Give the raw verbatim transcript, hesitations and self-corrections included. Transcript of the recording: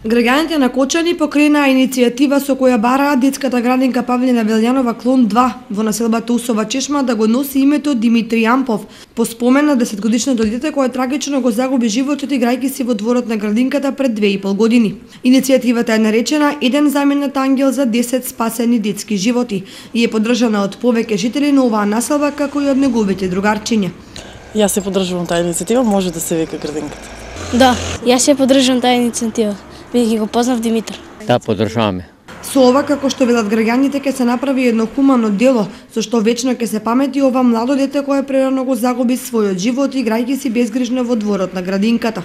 Граѓаните на Кочани покренаа иницијатива со која бараат детската градинка Павлина Велјанова клон два во населбата Усова Чешма да го носи името Димитри Јампов, по спомен на десетгодишното дете кое трагично го загуби животот играјќи си во дворот на градинката пред две и пол години. Иницијативата е наречена Еден заменет ангел за десет спасени детски животи и е поддржана од повеќе жители на оваа населба како и од неговите другарчиња. Јас се поддржувам таа иницијатива, може да се вика градинката. Да, јас се поддржувам таа иницијатива, бидејќи го познав Димитар. Да, поддржуваме. Со ова, како што велат граѓаните, ќе се направи едно хумано дело, со што вечно ќе се памети ова младо дете кое прерано го загуби својот живот играјќи си безгрижно во дворот на градинката.